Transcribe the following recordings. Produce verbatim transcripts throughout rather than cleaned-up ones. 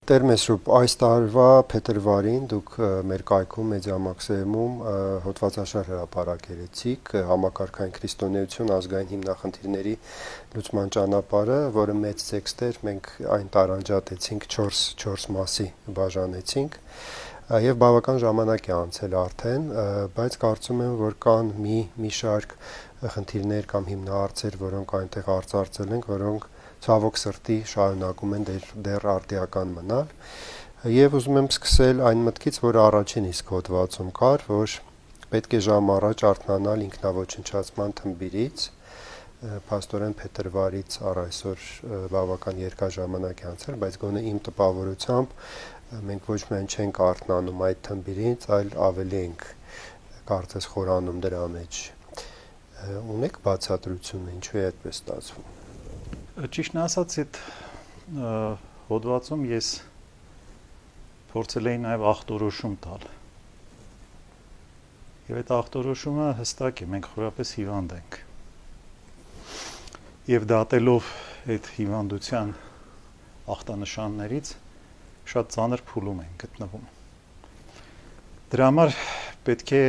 Տեր Մեսրոպ, այս տարվա փետրվարին դուք մեր կայքում Մեդիամաքսիմում հոդվածաշար հրապարակեցիք համակարգային քրիստոնեություն ազգային հիմնախնդիրների լուծման ճանապարհը, որը մեծ տեքստ էր, մենք այն տարանջատեցինք չորս մասի բաժանեցինք եւ բավական ժամանակ է անցել արդեն, բայց կարծում եմ, որ կան մի մի շարք խնդիրներ կամ հիմնահարցեր, որոնք այնտեղ արծարծել ենք, որոնք ցավոք սրտի շարունակում են դեռ, դեռ արտիական մնալ եւ ուզում եմ սկսել այն մտքից, որ առաջին իսկ հոդվածում կար, որ պետք է ժամ առաջ արթնանալ ինքնաոչնչացման թմբիրից, փաստորեն փետրվարից առ այսօր բավական երկար ժամանակ է անցել, բայց գոնե իմ տպավորությամբ մենք ոչ միայն չենք արթնանում այդ թմբիրից, այլ ավելի ենք կարծես խորանում դրա մեջ։ Ունեք բացատրությունը, ինչու է այդպես ստացվում։ Ճիշտն ասած, այդ հոդվածում ես փորձել էի նաև ախտորոշում տալ։ Եվ այդ ախտորոշումը հստակ է, մենք խորապես հիվանդ ենք։ Եվ դատելով այդ հիվանդության ախտանշաններից շատ ծանր փուլում ենք գտնվում։ Դրա համար պետք է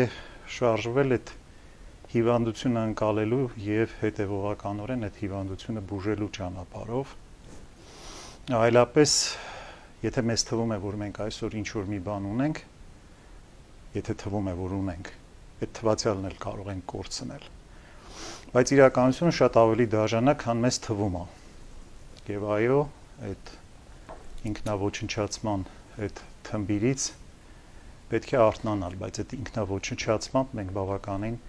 շարժվել այդ հիվանդությունը ընկալելու եւ հետեւողականորեն այդ հիվանդությունը բուժելու ճանապարհով, այլապես եթե մեզ թվում է, որ մենք այսօր ինչ-որ մի բան ունենք, եթե թվում է, որ ունենք, այդ թվացյալն էլ կարող ենք կորցնել, բայց իրականությունը շատ ավելի դաժան է, քան մեզ թվում է, եւ այո, այդ ինքնաոչնչացման այդ թմբիրից պետք է արթնանալ, բայց այդ ինքնաոչնչացմամբ մենք բավականին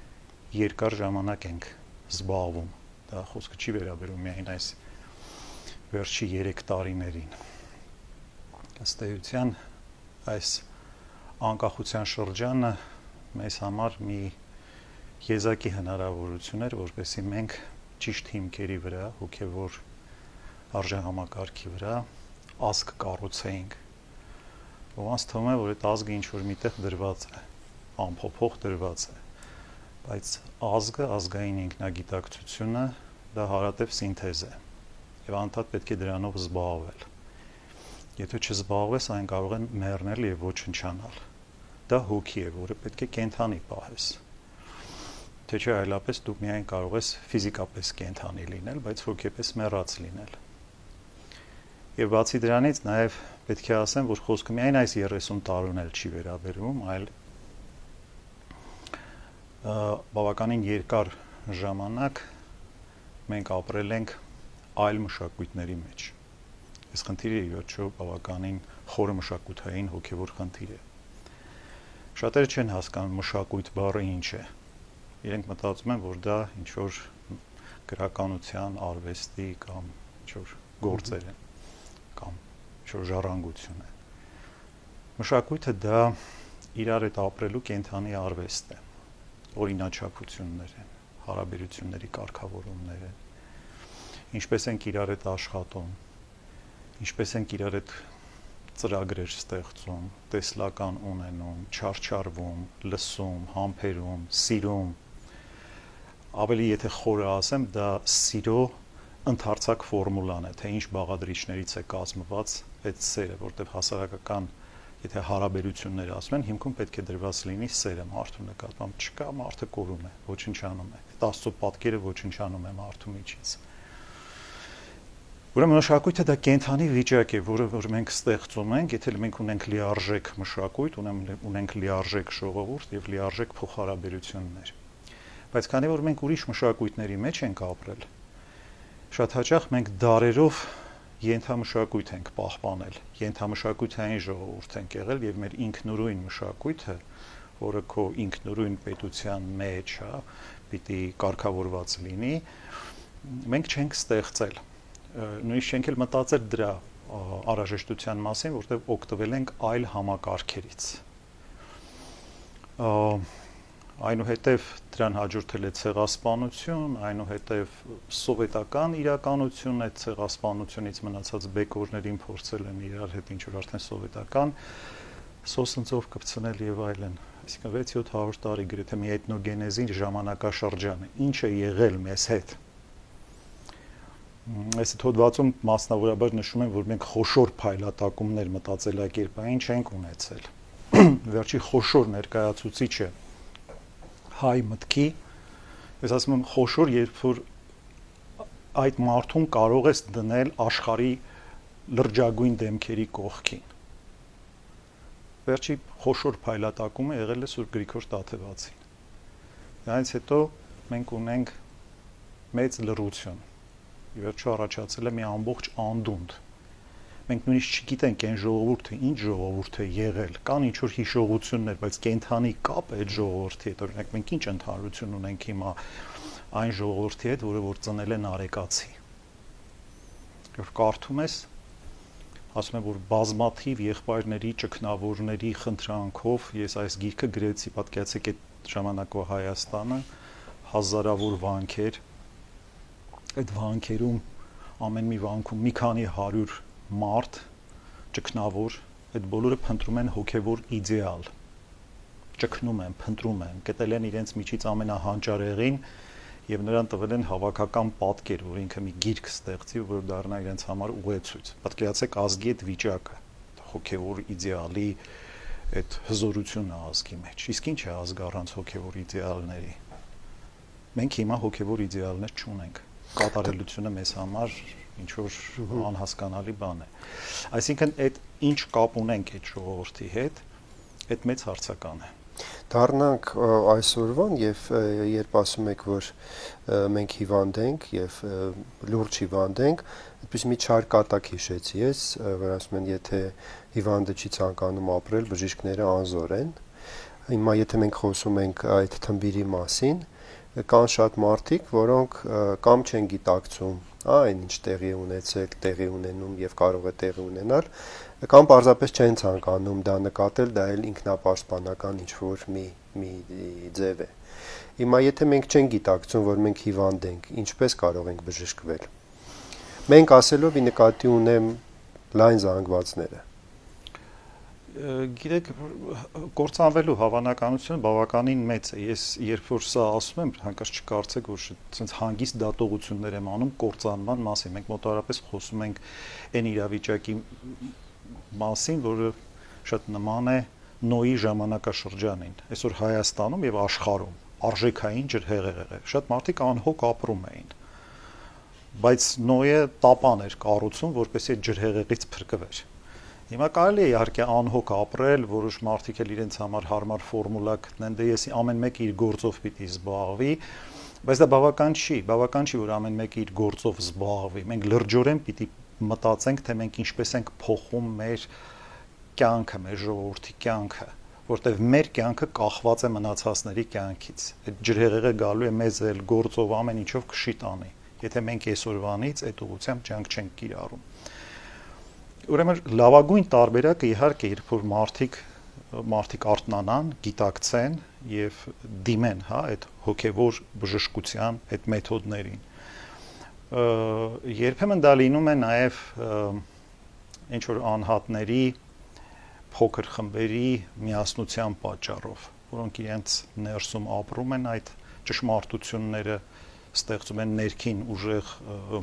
երկար ժամանակ ենք զբաղվում, դա խոսքը չի վերաբերում միայն այս վերջի երեք տարիներին։ Ըստ էության այս անկախության շրջանը մեզ համար մի եզակի հնարավորություն էր, որպեսզի մենք ճիշտ հիմքերի վրա, հոգևոր արժեհամակարգի վրա ազգ կառուցեինք։ Ոմանց թվում է, որ այդ ազգը ինչ-որ միտեղ դրված է, անփոփոխ դրված է, բայց ազգը, ազգային ինքնագիտակցությունը դա հարատև սինթեզ է եւ անդադ պետք է դրանով զբաղվել։ Եթե չզբաղվես, այն կարող է մեռնել եւ ոչնչանալ։ Դա հոգի է, որը պետք է կենթանի պահես։ Թե չէ այլապես դու միայն կարող ես ֆիզիկապես կենթանի լինել, բայց հոգեպես մեռած լինել։ Եվ բացի դրանից նաեւ պետք է ասեմ, որ խոսքը միայն այս երեսուն տարուն էլ չի վերաբերում, այլ բավականին երկար ժամանակ մենք ապրել ենք այլ մշակույթների մեջ։ Այս խնդիրը ի վերջո բավականին խորը մշակութային հոգևոր խնդիր է։ Շատերը չեն հասկանում մշակույթ բառը ինչ է։ Իրենք մտածում են, որ դա ինչ-որ գրականության, արվեստի կամ ինչ-որ գործեր են կամ ինչ-որ ժառանգություն է։ Մշակույթը դա իրար հետ ապրելու կենթանի արվեստ է։ Օրինաչափություններ են, հարաբերությունների կարգավորումներ են, ինչպես ենք իրար հետ աշխատում, ինչպես ենք իրար հետ ծրագրեր ստեղծում, տեսլական ունենում, չարչարվում, լսում, համբերում, սիրում, ավելի եթե խորը ասեմ, դա սիրո ընդարձակ ֆորմուլան է, թե ինչ բաղադրիչներից է կազմված այդ սերը, որտեղ հասարակական եթե հարաբերություններ ասում են, հիմքում պետք է դրված լինի սերը մարդու նկատմամբ, չկա, մարդը կորում է, ոչնչանում է, Աստծո պատկերը ոչնչանում է մարդու միջից։ Ուրեմն մշակույթը դա կենթանի վիճակ է, որը որ մենք ստեղծում ենք, եթե մենք ունենք լիարժեք մշակույթ, ունենք լիարժեք ժողովուրդ եւ լիարժեք փոխհարաբերություններ։ Բայց քանի որ մենք ուրիշ մշակույթների մեջ ենք ապրել, շատ հաճախ մենք դարերով ենթամշակույթ ենք պահպանել, ենթամշակութային ժողովուրդ ենք եղել եւ մեր ինքնուրույն մշակույթը, որը քո ինքնուրույն պետության մեջ է, պիտի կարգավորված լինի, մենք չենք ստեղծել։ Նույնիսկ չենք էլ մտածել դրա անհրաժեշտության մասին, որտեղ օգտվել ենք այլ համակարգերից։ Այնուհետև դրան հաջորդել է ցեղասպանություն, այնուհետև սովետական իրականություն է, ցեղասպանությունից մնացած բեկորներին փորձել են իրար հետ ինչ-որ արդեն սովետական սոսնձով կպցնել եւ այլն։ այսինքն վեց-յոթ հարյուր տարի գրեթե մի էթնոգենեզի ժամանակաշրջան է, ինչ է եղել մեզ հետ։ Այս հոդվածում մասնավորաբար նշում են, որ մենք խոշոր փայլատակումներ մտածելակերպային չենք ունեցել։ Վերջի խոշոր ներկայացուցիչը հայ մտքի, ես ասում եմ խոշոր, երբ որ այդ մարդուն կարող ես դնել աշխարհի լրջագույն դեմքերի կողքին։ Վերջի խոշոր փայլատակումը եղել է Սուրբ Գրիգոր Տաթևացին։ Դրանից հետո մենք ունենք մեծ լռություն։ Ի վերջո առաջացել է մի ամբողջ անդունդ։ Մենք նույնիսկ չգիտենք այն ժողովուրդը ինչ ժողովուրդ է եղել, կան ինչ որ հիշողություններ, բայց կենթանի կապ է այդ ժողովրդի հետ, օրինակ մենք ինչ ընդհանրություն ունենք հիմա այն ժողովրդի հետ, որը որ ծնել են արեկացի։ Երբ կարդում ես, ասում եմ, որ բազմաթիվ եղբայրների, ճգնավորների խնդրանքով ես այս գիրքը գրեցի, պատկերացեք այդ ժամանակվա Հայաստանը, հազարավոր վանքեր, այդ վանքերում ամեն մի վանքում մի քանի հարյուր մարդ, ճգնավոր, այդ բոլորը փնտրում են հոգևոր իդեալ, ճգնում են, փնտրում են, գտել են իրենց միջից ամենահանճարեղին եւ նրան տվել են հավաքական պատկեր, որ ինքը մի գիրք ստեղծի, որ դառնա իրենց համար ուղեցույց։ Պատկերացեք ազգի այդ վիճակը, հոգևոր իդեալի այդ հզորությունը ազգի մեջ։ Իսկ ինչ է ազգ առանց հոգևոր իդեալների։ Մենք հիմա հոգևոր իդեալներ չունենք։ Կատարելությունը մեզ համար ինչ որ անհասկանալի բան է։ Այսինքն այդ ինչ կապ ունենք այդ ժողովրդի հետ, այդ մեծ հարցական է։ Դառնանք այսօրվան եւ երբ ասում եք, որ մենք հիվանդ ենք եւ լուրջ հիվանդ ենք, այդպես մի չար կատակ հիշեցի ես, որ ասում են, եթե հիվանդը չի ցանկանում ապրել, բժիշկները անզոր են։ Հիմա եթե մենք խոսում ենք այդ թմբիրի մասին, կան շատ մարդիկ, որոնք կամ չեն գիտակցում, այն ինչ տեղի ունեցել, տեղի ունենում եւ կարող է տեղի ունենալ, կամ պարզապես չեն ցանկանում դա նկատել, դա էլ ինքնապաշտպանական ինչ-որ մի մի ձև է։ Հիմա եթե մենք չենք գիտակցում, որ մենք հիվանդ ենք, ինչպես կարող ենք բժշկվել։ Մենք ասելով ի նկատի ունեմ լայն զանգվածները։ Գիտեք, կործանվելու հավանականությունը բավականին մեծ է։ Ես երբ որ սա ասում եմ, հանկարծ չկարծեք, որ ցենց հանգիստ դատողություններ եմ անում կործանման մասին։ Մենք մոտավորապես խոսում ենք այն իրավիճակի մասին, որը շատ նման է Նոյի ժամանակաշրջանին, այսօր Հայաստանում եւ աշխարհում արժեքային ջրհեղեղեր է։ Շատ մարդիկ անհոգ ապրում էին, բայց Նոյը տապան էր կառուցում, որպեսզի այդ ջրհեղեղից փրկվեր։ Հիմա կարելի է իհարկե անհոգ ապրել, որոշ մարդիկ էլ իրենց համար հարմար ֆորմուլա գտնեն, դե ես ամեն մեկը իր գործով պիտի զբաղվի, բայց դա բավական չի, բավական չի, որ ամեն մեկը իր գործով զբաղվի։ Մենք լրջորեն պիտի մտածենք, թե մենք ինչպես ենք փոխում մեր կյանքը, մեր ժողովրդի կյանքը, որտեղ մեր կյանքը կախված է մնացածների կյանքից։ Այդ ջրհեղեղը գալու է մեզ էլ գործով ամեն ինչով քշի տանի, եթե մենք այսօրվանից այդ ուղղությամբ ջանք չենք կիրառում։ Ուրեմն լավագույն տարբերակը իհարկե երբ որ մարդիկ մարդիկ արթնանան, գիտակցեն եւ դիմեն, հա, այդ հոգեվոր բժշկության այդ մեթոդներին։ Երբեմն դա լինում է նաեւ ինչ որ անհատների փոքր խմբերի միասնության պատճառով, որոնք իրենց ներսում ապրում են այդ ճշմարտությունները, ստեղծում են ներքին ուժեղ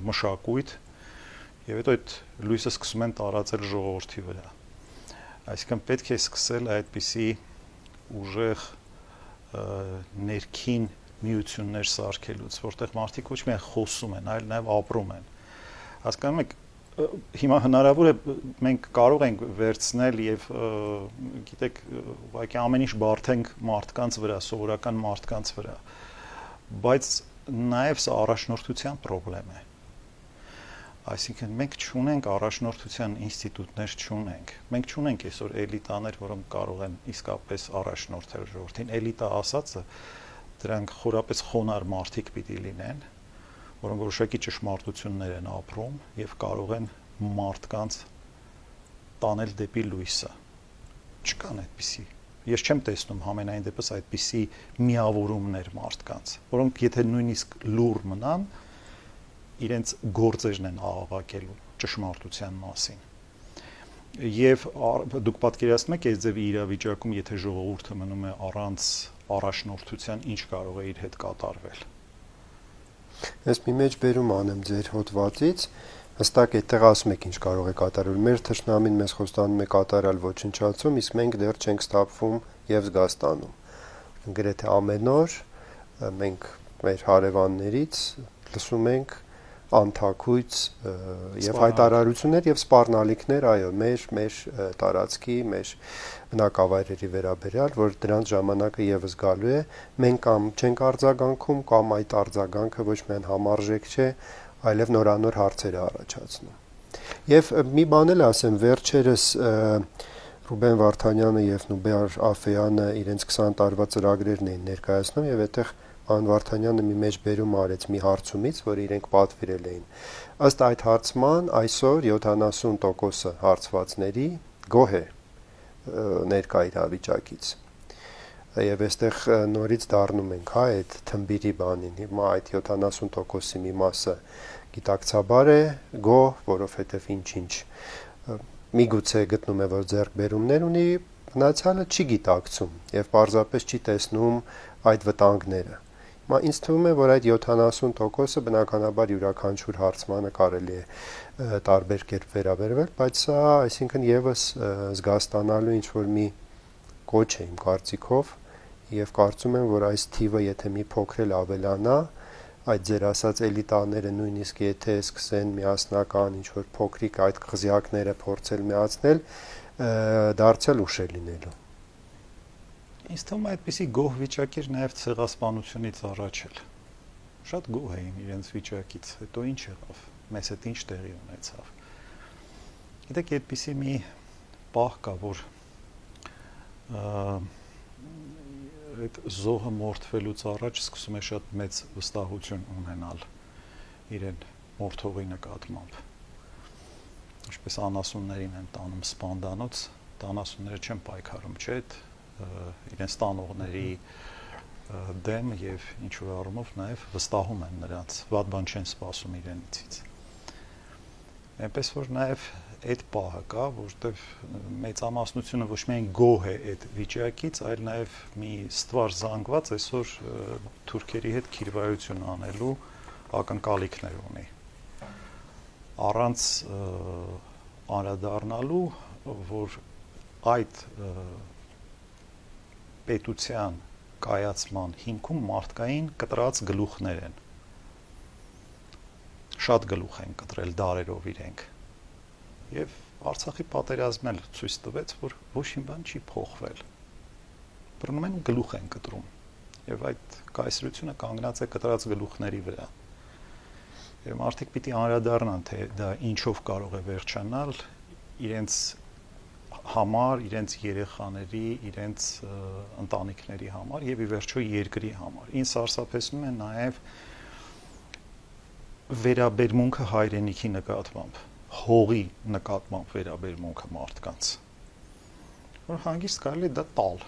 մշակույթ եւ հետո այդ լույսը սկսում են տարածել ժողովրդի վրա։ Այսինքն պետք է սկսել այդպիսի ուժեղ ներքին միություններ սարքելուց, որտեղ մարդիկ ոչ միայն խոսում են, այլ նաեւ ապրում են։ Հասկանում եք, հիմա հնարավոր է մենք կարող ենք վերցնել եւ գիտեք, ուղղակի ամեն ինչ բարթենք մարդկանց վրա, սովորական մարդկանց վրա, բայց նաեւ սա առաջնորդության խնդրեմ է։ Այսինքն մենք չունենք առաջնորդության ինստիտուտներ չունենք։ Մենք չունենք այսօր էլիտաներ, որոնք կարող են իսկապես առաջնորդել ժողովրդին։ Էլիտա ասածը դրանք խորապես խոնար մարդիկ պիտի լինեն, որոնք որոշակի ճշմարտություններ են ապրում եւ կարող են մարդկանց տանել դեպի լույսը։ Չկան այդպիսի։ Ես չեմ տեսնում համենայն դեպս այդպիսի միավորումներ մարդկանց, որոնք եթե նույնիսկ լուր մնան, իրենց գործերն են աղաղակելու ճշմարտության մասին։ Եվ դուք պատկերացնում եք այս ձևի իրավիճակում, եթե ժողովուրդը մնում է առանց առաջնորդության, ինչ կարող է իր հետ կատարվել։ Ես մի մեջ բերում անեմ ձեր հոդվածից, հստակ այդտեղ ասում եք ինչ կարող է կատարել։ Մեր թշնամին մեզ խոստանում է կատարալ ոչնչացում, իսկ մենք դեռ չենք ստապվում եւ զգաստանում։ Գրեթե ամեն օր մենք մեր հարևաններից լսում ենք անթակույց եւ հայտարարություններ եւ սպառնալիքներ, այո, մեր մեր տարածքի, մեր բնակավայրերի վերաբերյալ, որ դրանց ժամանակը եւս գալու է, մենք կամ չենք արձագանքում, կամ այդ արձագանքը ոչ միայն համարժեք չէ, այլև նորանոր հարցեր է առաջացնում։ Եվ մի բան էլ ասեմ, վերջերս Ռուբեն Վարդանյանը եւ Նուբեր Աֆեյանը իրենց քսան տարվա ծրագրերն էին ներկայացնում եւ այդտեղ Ան Վարդանյանը մի մեջ բերում արեց մի հարցումից, որ իրենք պատվիրել էին։ Ըստ այդ հարցման այսօր յոթանասուն տոկոսը հարցվածների գոհ է ներկա իրավիճակից։ Եվ այստեղ նորից դառնում ենք, հա, այդ թմբիրի բանին։ Հիմա այդ յոթանասուն տոկոսի մի մասը գիտակցաբար է գոհ, որովհետև ինչ-ինչ միգուցե գտնում է, որ ձեռքբերումներ ունի, մնացյալը չի գիտակցում եւ պարզապես չի տեսնում այդ վտանգները։ Մա ինձ թվում է, որ այդ յոթանասուն տոկոսը բնականաբար յուրաքանչյուր հարցմանը կարելի է տարբեր կերպ վերաբերվել, բայց սա, այսինքն եւս զգաստանալու ինչ որ մի կոչ է իմ կարծիքով եւ կարծում եմ, որ այս թիվը եթե մի փոքր էլ ավելանա, այդ ձեր ասած էլիտաները նույնիսկ եթե սկսեն միասնական ինչ որ փոքրիկ այդ խզյակները փորձել միացնել, դարձյալ ուշ է լինելու։ Ինձ թվում է այդպիսի գոհ վիճակ էր նաև ցեղասպանությունից առաջ էլ։ Շատ գոհ էին իրենց վիճակից, հետո ինչ եղավ, մեզ հետ ինչ տեղի ունեցավ։ Գիտեք, այդպիսի մի պահ կա, որ այդ զոհը մորթվելուց առաջ սկսում է շատ մեծ վստահություն ունենալ իրեն մորթողի նկատմամբ։ Ինչպես անասուններին են տանում սպանդանոց, անասունները չեն պայքարում, չէ՞, իրենց տանողների դեմ եւ ինչ որ առումով նաեւ վստահում են նրանց, վատ բան չեն սպասում իրենցից։ Այնպես որ նաեւ այդ պահը կա, որտեղ մեծամասնությունը ոչ միայն գոհ է այդ վիճակից, այլ նաեւ մի ստվար զանգված այսօր թուրքերի հետ քիրվայություն անելու ակնկալիքներ ունի։ Առանց անդրադառնալու, որ այդ պետության կայացման հիմքում մարդկային կտրած գլուխներ են։ Շատ գլուխ են կտրել դարերով իրենք։ Եվ Արցախի պատերազմն էլ ցույց տվեց, որ ոչ մի բան չի փոխվել։ Բռնում են գլուխ են կտրում։ Եվ այդ կայսրությունը կանգնած է կտրած գլուխների վրա։ Եվ մարդիկ պիտի անդրադառնան, թե դա ինչով կարող է վերջանալ իրենց համար, իրենց երեխաների, իրենց ընտանիքների համար եւ ի վերջո երկրի համար։ Ինձ սարսափեցնում է նաեւ վերաբերմունքը հայրենիքի նկատմամբ, հողի նկատմամբ վերաբերմունքը մարդկանց։ Որ հանգիստ կարելի դա տալ։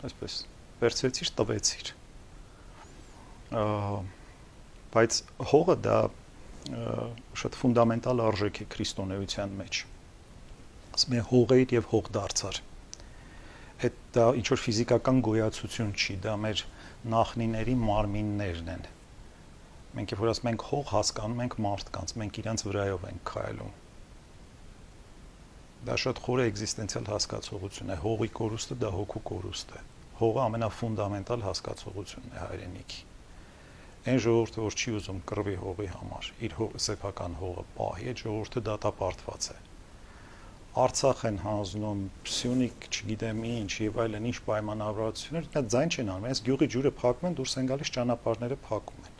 Այսպես, վերցրեցիր, տվեցիր։ Բայց հողը դա շատ ֆունդամենտալ արժեք է քրիստոնեության մեջ։ Ասում է հողեր եւ հող դարձար։ Այդ դա ինչ որ ֆիզիկական գոյացություն չի, դա մեր նախնիների մարմիններն են։ Մենք երբ որ ասում ենք հող, հասկանում ենք մարդկանց, մենք իրանց վրայով ենք քայլում։ Դա շատ խոր էգզիստենցիալ հասկացողություն է, հողի կորուստը դա հոգու կորուստ է։ Հողը ամենաֆունդամենտալ հասկացողությունն է հայրենիքի։ Այն ժողովուրդը, որ չի ուզում կռվի հողի համար, իր սեփական հողը պահի, այդ ժողովուրդը դատապարտված է։ Արցախ են հանձնում, Սյունիք, չգիտեմ ինչ եւ այլն, ինչ պայմանավորվածություններ, դա ձայն չեն անում, այս գյուղի ջուրը փակում են, դուրս են գալիս ճանապարհները փակում են։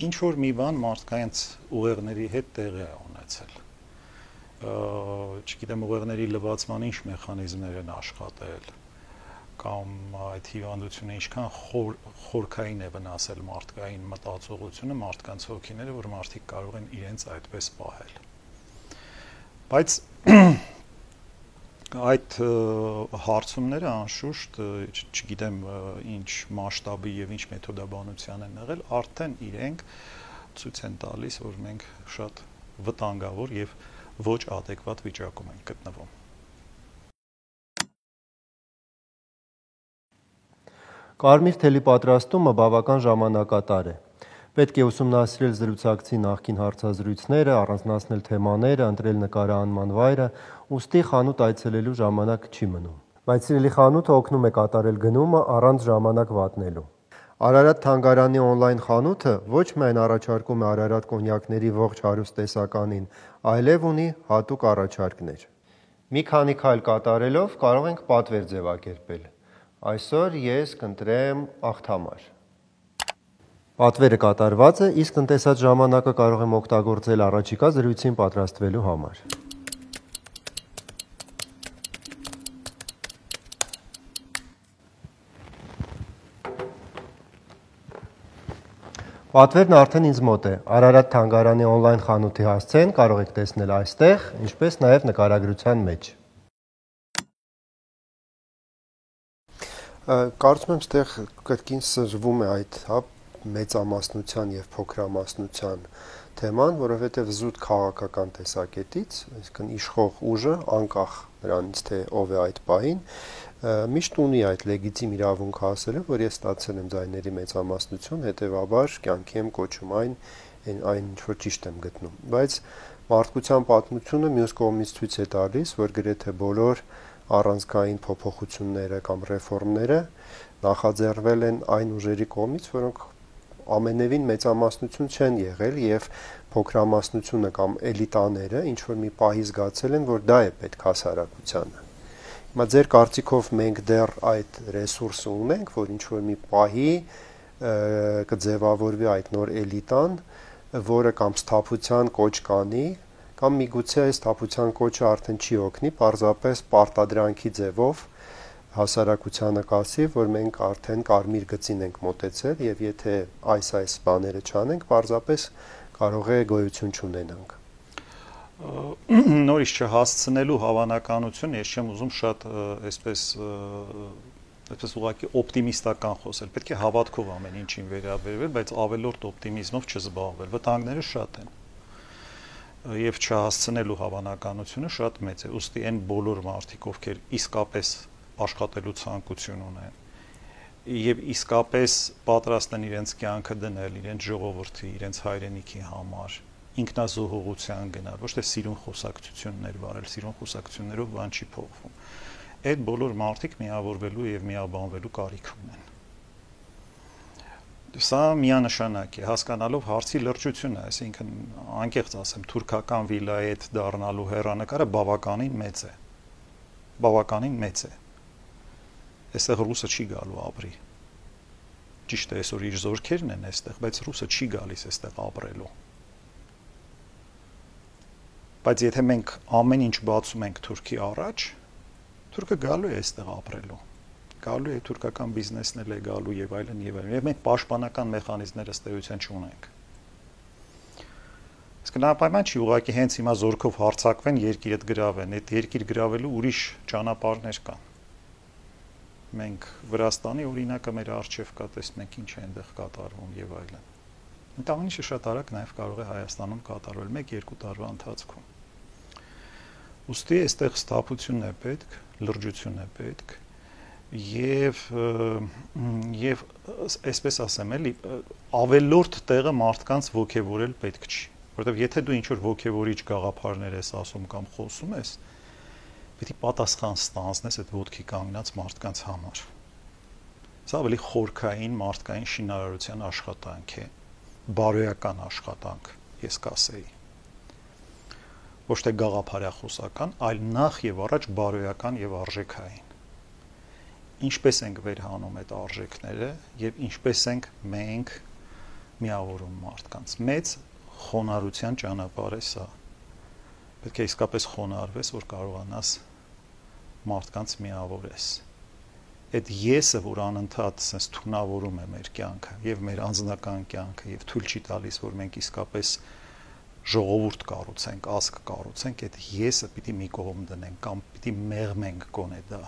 Ինչ որ մի բան մարդկանց ուղեղների հետ տեղի է ունեցել։ Չգիտեմ ուղեղների լվացման ինչ մեխանիզմներ են աշխատել, կամ այդ հիվանդությունը ինչքան խոր, խորքային է վնասել մարդկային մտածողությունը, մարդկանց հոգիները, որ մարդիկ կարող են իրենց այդպես պահել։ Բայց այդ հարցումները անշուշտ, չգիտեմ ինչ մասշտաբի եւ ինչ մեթոդաբանության են եղել, արդեն իրենք ցույց են տալիս, որ մենք շատ վտանգավոր եւ ոչ adekvat վիճակում ենք գտնվում։ Կարմիր թելի պատրաստումը բավական ժամանակատար է։ Պետք է ուսումնասիրել զրուցակցի նախկին հարցազրույցները, առանձնացնել թեմաները, ընտրել նկարահանման վայրը, ուստի խանութ այցելելու ժամանակ չի մնում։ Բայց սիրելի խանութը օգնում է կատարել գնումը առանց ժամանակ վատնելու։ Արարատ թանգարանի օնլայն խանութը ոչ միայն առաջարկում է Արարատ կոնյակների ողջ հարուստ տեսականին, այլև ունի հատուկ առաջարկներ։ Մի քանի քայլ կատարելով կարող ենք պատվեր ձևակերպել։ Այսօր ես կընտրեմ աղթամար։ Պատվերը կատարված է, իսկ տնտեսած ժամանակը կարող եմ օգտագործել առաջիկա զրույցին պատրաստվելու համար։ Պատվերն արդեն ինձ մոտ է։ Արարատ թանգարանի օնլայն խանութի հասցեն կարող եք տեսնել այստեղ, ինչպես նաև նկարագրության մեջ։ Կարծում եմ, ստեղ կրկին սրվում է այդ հա մեծամասնության եւ փոքրամասնության թեման, որովհետեւ զուտ քաղաքական տեսակետից, այսինքն իշխող ուժը, անկախ նրանից թե ով է այդ պահին, միշտ ունի այդ լեգիտիմ իրավունքը ասել, որ ես ստացել եմ ձայների մեծամասնություն, հետեւաբար կյանքի եմ կոչում այն, այն ինչ որ ճիշտ եմ գտնում։ Բայց մարդկության պատմությունը մյուս կողմից ցույց է տալիս, որ գրեթե բոլոր առանցքային փոփոխությունները կամ ռեֆորմները նախաձեռնվել են այն ուժերի կողմից, որոնք ամենևին մեծամասնություն չեն եղել եւ փոքրամասնությունը կամ էլիտաները ինչ որ մի պահի զգացել են, որ դա է պետք հասարակությանը։ Հիմա ձեր կարծիքով մենք դեռ այդ ռեսուրսը ունենք, որ ինչ որ մի պահի կձևավորվի այդ նոր էլիտան, որը կամ սթափության կոչ կանի, կամ միգուցե այս սթափության կոչը արդեն չի օգնի, պարզապես պարտադրանքի ձևով հասարակությանը կասի, որ մենք արդեն կարմիր գծին ենք մոտեցել եւ եթե այս-այս բաները չանենք, պարզապես կարող է գոյություն չունենանք։ Նորից չհասցնելու հավանականություն, ես չեմ ուզում շատ այսպես այսպես ուղղակի օպտիմիստական խոսել, պետք է հավատքով ամեն ինչին վերաբերվել, բայց ավելորդ օպտիմիզմով չզբաղվել, վտանգները շատ են եւ չհասցնելու հավանականությունը շատ մեծ է, ուստի այն բոլոր մարդիկ, ովքեր իսկապես աշխատելու ցանկություն ունեն եւ իսկապես պատրաստ են իրենց կյանքը դնել իրենց ժողովրդի, իրենց հայրենիքի համար, ինքնազոհողության գնալ, ոչ թե սիրուն խոսակցություններ վարել, սիրուն խոսակցություններով բան չի փոխվում։ Այդ բոլոր մարդիկ միավորվելու եւ միաբանվելու կարիք ունեն։ Սա միանշանակ է, հասկանալով հարցի լրջությունը, այսինքն անկեղծ ասեմ, թուրքական վիլայետ դառնալու հեռանկարը բավականին մեծ է։ Բավականին մեծ է։ Այստեղ ռուսը չի գալու ապրի։ Ճիշտ է, այսօր իր զորքերն են այստեղ, բայց ռուսը չի գալիս այստեղ ապրելու։ Բայց եթե մենք ամեն ինչ բացում ենք Թուրքի առաջ, Թուրքը գալու է այստեղ ապրելու։ Գալու է թուրքական բիզնեսն էլ է գալու եւ այլն եւ այլն։ Եվ մենք պաշտպանական մեխանիզմներ ըստ էության չունենք։ Իսկ նապայման չի ուղղակի հենց հիմա զորքով հարձակվեն, երկիրը գրավեն, այդ երկիր գրավելու ուրիշ ճանապարհներ կան։ Մենք Վրաստանի օրինակը մեր արժեվ կա, տեսնում ենք ինչ է այնտեղ կատարվում եւ այլն։ Այդ ամեն ինչը շատ արագ նաեւ կարող է Հայաստանում կատարվել մեկ-երկու տարվա ընթացքում։ Ոստի այստեղ ստապությունն է պետք, լրջություն է պետք եւ եւ այսպես ասեմ էլի ավելորդ տեղը մարդկանց ողջևորել պետք չի, որովհետեւ եթե դու ինչ որ ողջևորիչ գաղափարներ ես ասում կամ խոսում ես, պետք է պատասխան ստանձնես այդ ոտքի կանգնած մարդկանց համար։ Սա ավելի խորքային մարդկային շինարարության աշխատանք է, բարոյական աշխատանք, ես կասեի։ Ոչ թե գաղափարախոսական, այլ նախ եւ առաջ բարոյական եւ արժեքային։ Ինչպես ենք վերհանում այդ արժեքները եւ ինչպես ենք մենք միավորում մարդկանց։ Մեծ խոնարհության ճանապարհ է սա։ Պետք է իսկապես խոնարհվես, որ կարողանաս մարդկանց միավորես։ Այդ եսը, որ անընդհատ sense թունավորում է մեր կյանքը եւ մեր անձնական կյանքը եւ թույլ չի տալիս, որ մենք իսկապես ժողովուրդ կառուցենք, ազգ կառուցենք, այդ եսը պիտի մի կողմ դնենք կամ պիտի մեղմենք գոնե դա։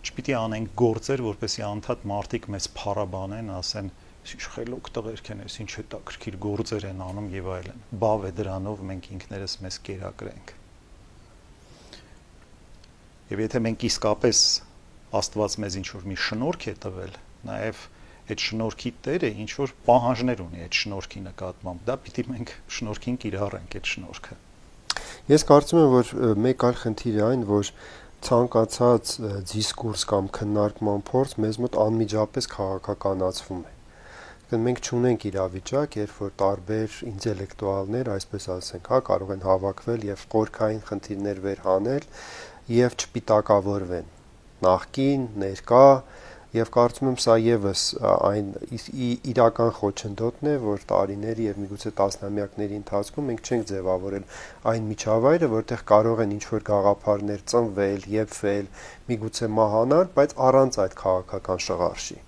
Չպիտի անենք գործեր, որպեսզի անդադ մարդիկ մեզ փառաբանեն, ասեն, ինչ խելոք տղերք են, ինչ հետաքրքիր գործեր են անում եւ այլն։ Բավ է դրանով մենք ինքներս մեզ կերակրենք։ Եվ եթե մենք իսկապես Աստված մեզ ինչ որ մի շնորհք է տվել, նաեւ այդ շնորհքի Տերը ինչ որ պահանջներ ունի այդ շնորհքի նկատմամբ, դա պիտի մենք շնորհքին կիրառենք այդ շնորհքը։ Ես կարծում եմ, որ մեկ այլ խնդիր է այն, որ ցանկացած դիսկուրս կամ քննարկման փորձ մեզ մոտ անմիջապես քաղաքականացվում է։ Մենք չունենք իրավիճակ, երբ որ տարբեր ինտելեկտուալներ, այսպես ասենք, հա, կարող են հավաքվել եւ խորքային խնդիրներ վերհանել եւ չպիտակավորվեն։ Նախկին, ներկա, եւ կարծում եմ սա եւս այն իրական խոչընդոտն է, որ տարիների եւ միգուցե տասնամյակների ընթացքում մենք չենք ձևավորել այն միջավայրը, որտեղ կարող են ինչ-որ գաղափարներ ծնվել, եփվել, միգուցե մահանալ, բայց առանց այդ քաղաքական շղարշի։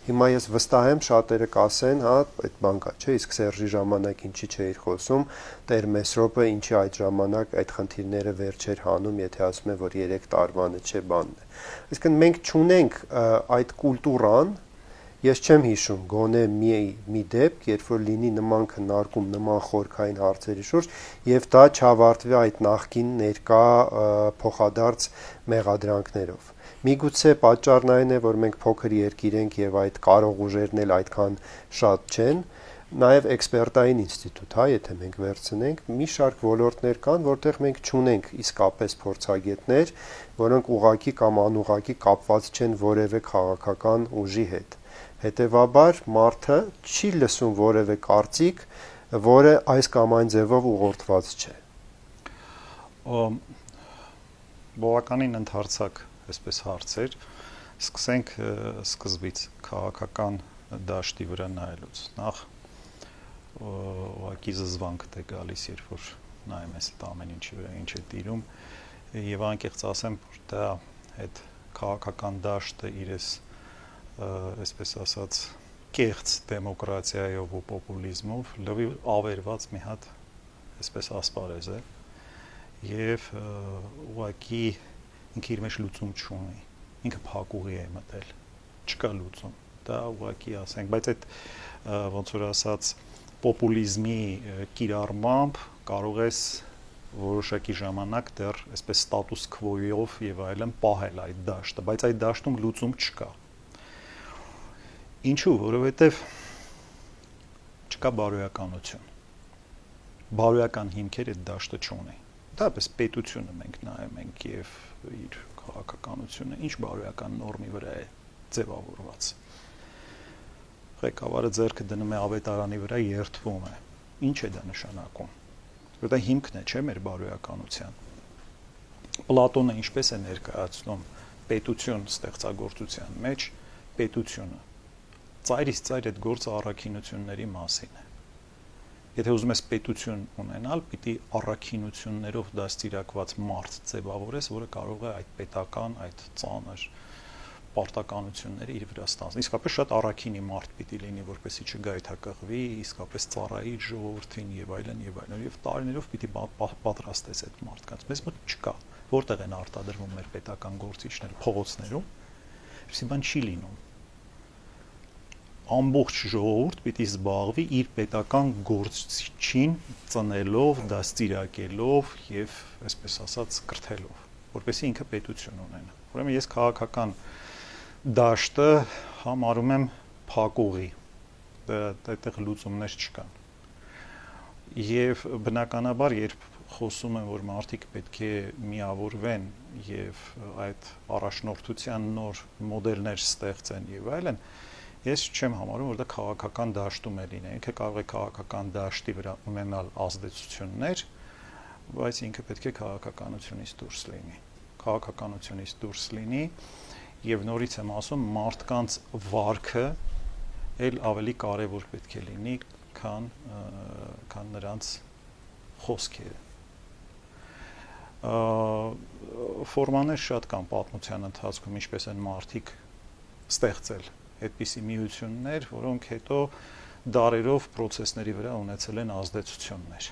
Հիմա ես վստահ եմ շատերը կասեն, հա, այդ բան կա, չէ, իսկ Սերժի ժամանակ ինչի չէիր խոսում, Տեր Մեսրոպը ինչի այդ ժամանակ այդ խնդիրները վեր չէր հանում, եթե ասում են, որ երեք տարվանը չէ բանն է։ Այսինքն մենք չունենք այդ կուլտուրան, ես չեմ հիշում գոնե մի մի դեպք, երբ որ լինի նման քննարկում, նման խորքային հարցերի շուրջ, եւ դա չավարտվի այդ նախկին ներկա փոխադարձ մեղադրանքներով։ Միգուցե պատճառն այն է, որ մենք փոքր երկիր ենք եւ այդ կարող ուժերն էլ այդքան շատ չեն, նաեւ էքսպերտային ինստիտուտ, հա, եթե մենք վերցնենք, մի շարք ոլորտներ կան, որտեղ մենք չունենք իսկապես փորձագետներ, որոնք ուղակի կամ անուղակի կապված չեն որևէ քաղաքական ուժի հետ։ Հետևաբար մարդը չի լսում որևէ կարծիք, որը այս կամ այն ձևով ուղղորդված չէ։ Բավականին ընդհանրացակ այսպես հարցեր, սկսենք սկզբից քաղաքական դաշտի վրա նայելուց։ Նախ ուղղակի զզվանք է գալիս, երբ որ նայում ես այդ ամեն ինչի վրա, ինչ է տիրում, եւ անկեղծ ասեմ, որ դա այդ քաղաքական դաշտը իրես այսպես ասած կեղծ դեմոկրատիայով ու պոպուլիզմով լավի ավերված մի հատ այսպես ասպարեզ է եւ ուղղակի ինքը իր մեջ լուծում չունի, ինքը փակուղի է մտել, չկա լուծում, դա ուղղակի ասենք, բայց այդ ոնց որ ասած պոպուլիզմի կիրառմամբ կարող ես որոշակի ժամանակ դեռ այսպես ստատուս քվոյով եւ այլն պահել այդ դաշտը, բայց այդ դաշտում լուծում չկա։ Ինչու՞, որովհետեւ չկա բարոյականություն։ Բարոյական հիմքեր այդ դաշտը չունի։ Դապես պետությունը մենք նայում ենք եւ իր քաղաքականությունը ինչ բարոյական նորմի վրա է ձևավորված։ Ղեկավարը ձեռքը դնում է ավետարանի վրա, երթվում է։ Ինչ է դա նշանակում։ Դա հիմքն է, չէ՞, մեր բարոյականության։ Պլատոնը ինչպես է ներկայացնում պետություն ստեղծագործության մեջ պետությունը։ Ծայրից ծայր այդ գործը առաքինությունների մասին է։ Եթե ուզում ես պետություն ունենալ, պիտի առաքինություններով դաստիարակված մարդ ձևավորես, որը կարող է այդ պետական, այդ ծանր պարտականությունները իր վրա ստանալ։ Իսկապես շատ առաքինի մարդ պիտի լինի, որպեսզի չգայթակղվի, իսկապես ծառայի ժողովրդին եւ այլն եւ այլն, եւ տարիներով պիտի պատրաստես այդ մարդկանց։ Մեզ մոտ չկա։ Որտեղ են արտադրվում մեր պետական գործիչները, փողոցներում։ Այսինքն բան չի լինում։ Ամբողջ ժողովուրդ պիտի զբաղվի իր պետական գործչին ծնելով, դաստիարակելով եւ այսպես ասած կրթելով, որպեսզի ինքը պետություն ունենա։ Ուրեմն ես քաղաքական դաշտը համարում եմ փակուղի, այդտեղ լուծումներ չկան։ Եվ բնականաբար, երբ խոսում եմ, որ մարդիկ պետք է միավորվեն եւ այդ առաջնորդության նոր մոդելներ ստեղծեն եւ այլն, ես չեմ համարում, որ դա քաղաքական դաշտում է լինի։ Ինքը կարող է քաղաքական դաշտի վրա ունենալ ազդեցություններ, բայց ինքը պետք է քաղաքականությունից դուրս լինի։ Քաղաքականությունից դուրս լինի եւ նորից եմ ասում, մարդկանց վարքը էլ ավելի կարեւոր պետք է լինի, քան քան նրանց խոսքերը։ Ֆորմաներ շատ կան պատմության ընթացքում, ինչպես են մարդիկ ստեղծել այդպիսի միություններ, որոնք հետո դարերով process-ների վրա ունեցել են ազդեցություններ։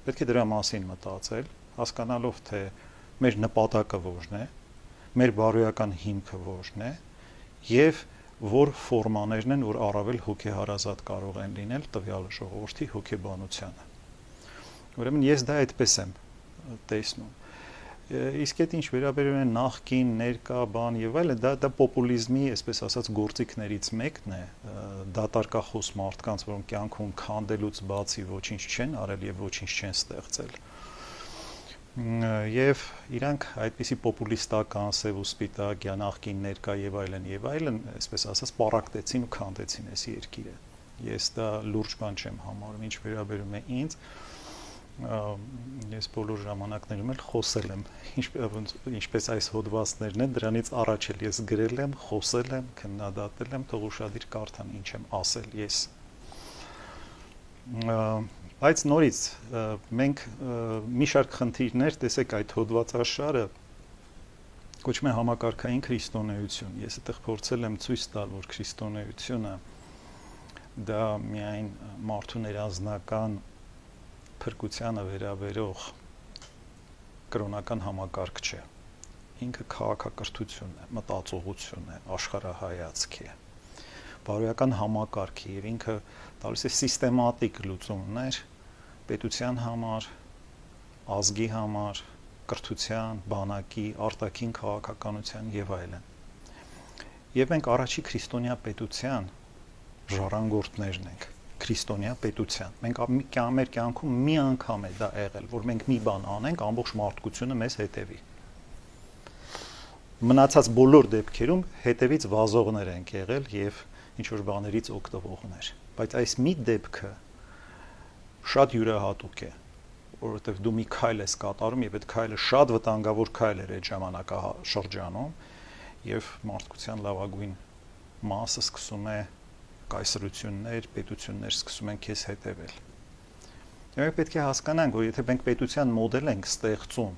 Պետք է դրա մասին մտածել, հասկանալով թե մեր նպատակը որն է, մեր բարոյական հիմքը որն է, եւ որ ֆորմաներն են, որ առավել հոգեհարազատ կարող են լինել տվյալ ժողովրդի հոգեբանությանը։ Ուրեմն ես դա այդպես եմ տեսնում։ Իսկ այդ ինչ վերաբերում է նախկին, ներկա, բան եւ այլն, դա դա պոպուլիզմի, այսպես ասած, գործիքներից մեկն է, դատարկախոս մարդկանց, որոնք կյանքում քանդելուց բացի ոչինչ չեն արել եւ ոչինչ չեն ստեղծել։ Եվ իրանք այդպիսի պոպուլիստական, սև ու սպիտակ, նախկին, ներկա եւ այլն եւ այլն, այսպես ասած, պարակտեցին ու քանդեցին այս երկիրը։ Ես դա լուրջ բան չեմ համարում, ինչ վերաբերում է ինձ, ես բոլոր ժամանակներում էլ խոսել եմ, ինչպես այս հոդվածներն են, դրանից առաջ էլ ես գրել եմ, խոսել եմ, քննադատել եմ, թող ուշադիր կարդան ինչ եմ ասել ես։ Բայց նորից մենք մի շարք խնդիրներ, տեսեք, այդ հոդվածաշարը կոչվում է համակարգային քրիստոնեություն։ Ես այդտեղ փորձել եմ ցույց տալ, որ քրիստոնեությունը դա միայն մարդու ներանձնական փրկությանը վերաբերող կրոնական համակարգ չէ։ Ինքը քաղաքակրթություն է, մտածողություն է, աշխարհայացք է, բարոյական համակարգ է եւ ինքը տալիս է սիստեմատիկ լուծումներ պետության համար, ազգի համար, կրթության, բանակի, արտաքին քաղաքականության եւ այլն։ Եվ մենք առաջի քրիստոնյա պետության ժառանգորդներն ենք։ Քրիստոնյա պետության։ Մենք մեր կյանքում մի անգամ է դա եղել, որ մենք մի բան անենք, ամբողջ մարդկությունը մեզ հետևի։ Մնացած բոլոր դեպքերում հետևից վազողներ ենք եղել եւ ինչ որ բաներից օգտվողներ։ Բայց այս մի դեպքը շատ յուրահատուկ է, որովհետեւ դու մի քայլ ես կատարում եւ այդ քայլը շատ վտանգավոր քայլ էր այդ ժամանակաշրջանում եւ մարդկության լավագույն մասը սկսում է կայսրություններ, պետություններ սկսում են քեզ հետևել։ Եվ մենք պետք է հասկանանք, որ եթե մենք պետության մոդել ենք ստեղծում,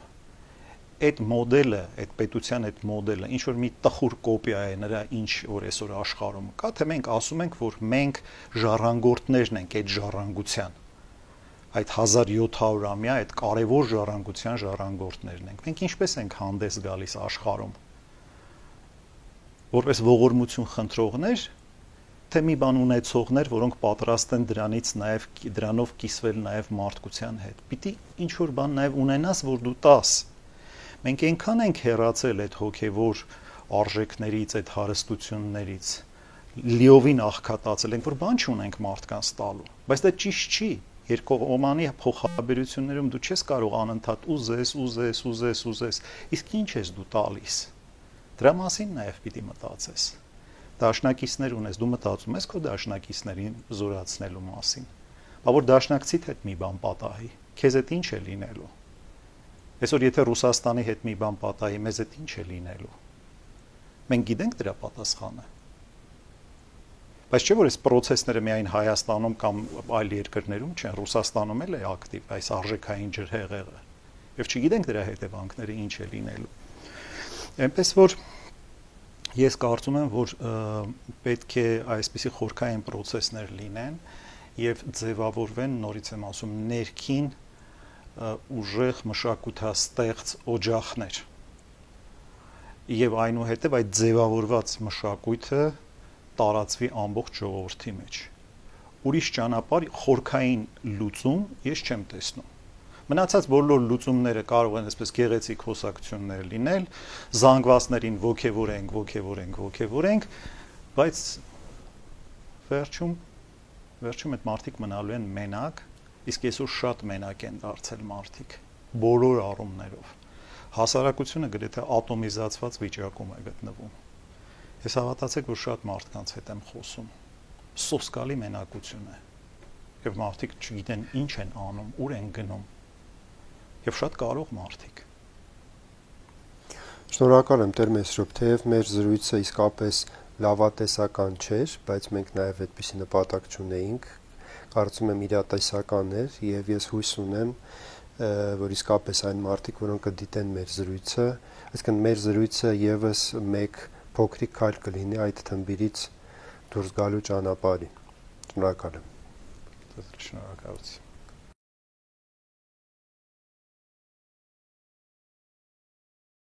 այդ մոդելը, այդ պետության այդ մոդելը ինչ որ մի տխուր կոպիա է նրա ինչ որ այսօր աշխարհում կա, թե մենք ասում ենք, որ մենք ժառանգորդներն ենք այդ ժառանգության, այդ հազար յոթ հարյուրամյա այդ կարևոր ժառանգության ժառանգորդներն ենք։ Մենք ինչպես ենք հանդես գալիս աշխարհում, որպես ողորմություն խնդրողներ, թե մի բան ունեցողներ, որոնք պատրաստ են դրանից նաև դրանով կիսվել նաև մարդկության հետ։ Պիտի ինչ որ բան նաև ունենաս, որ դու տաս։ Մենք այնքան ենք հեռացել այդ հոգևոր արժեքներից, այդ հարստություններից, լիովին աղքատացել ենք, որ բան չունենք մարդկանց տալու։ Բայց դա ճիշտ չի։ Երկկողմանի փոխհարաբերություններում դու չես կարող անընդհատ ուզես, ուզես, ուզես, ուզես։ Իսկ ինչ ես դու տալիս։ Դրա մասին նաև պիտի մտածես։ Դաշնակիցներ ունես, դու մտածում ես քո դաշնակիցներին զորացնելու մասին։ Բա որ դաշնակցիդ հետ մի բան պատահի, քեզ հետ ինչ է լինելու։ Այսօր եթե Ռուսաստանի հետ մի բան պատահի, մեզ հետ ինչ է լինելու։ Մենք գիտենք դրա պատասխանը։ Բայց չէ՞ որ այս process-ները միայն Հայաստանում կամ այլ երկրներում չեն, Ռուսաստանում էլ է ակտիվ այս արժեքային ջրհեղեղը։ Եվ չգիտենք դրա հետևանքները ինչ է լինելու։ Այնպես որ ես կարծում եմ, որ պետք է այսպիսի խորքային process-ներ լինեն եւ ձևավորվեն, նորից եմ ասում, ներքին ուժեղ մշակութաստեղծ օջախներ։ Եվ այնուհետև այդ ձևավորված մշակույթը տարածվի ամբողջ ժողովրդի մեջ։ Ուրիշ ճանապարհ խորքային լուծում ես չեմ տեսնում։ Մնացած բոլոր լուծումները կարող են այսպես գեղեցիկ խոսակցություններ լինել, զանգվածներին ոգևորենք, ոգևորենք, ոգևորենք, բայց վերջում վերջում այդ մարդիկ մնալու են մենակ, իսկ այսօր շատ մենակ են դարձել մարդիկ, բոլոր առումներով։ Հասարակությունը գրեթե ատոմիզացված վիճակում է գտնվում։ Ես հավատացեք, որ շատ մարդկանց հետ եմ խոսում։ Սոսկալի մենակություն է։ Եվ մարդիկ չգիտեն ինչ են անում, ուր են գնում։ Եվ շատ կարող մարդիկ։ Շնորհակալ եմ Տեր Մեսրոպ, թեև մեր զրույցը իսկապես լավատեսական չէր, բայց մենք նաև այդպիսի նպատակ չունեինք, կարծում եմ իրատեսական էր, եւ ես հույս ունեմ, որ իսկապես այն մարդիկ, որոնք կդիտեն մեր զրույցը, այսինքն մեր զրույցը եւս մեկ փոքրիկ քայլ կլինի այդ թմբիրից դուրս գալու ճանապարհին։ Շնորհակալ եմ։ Շնորհակալություն։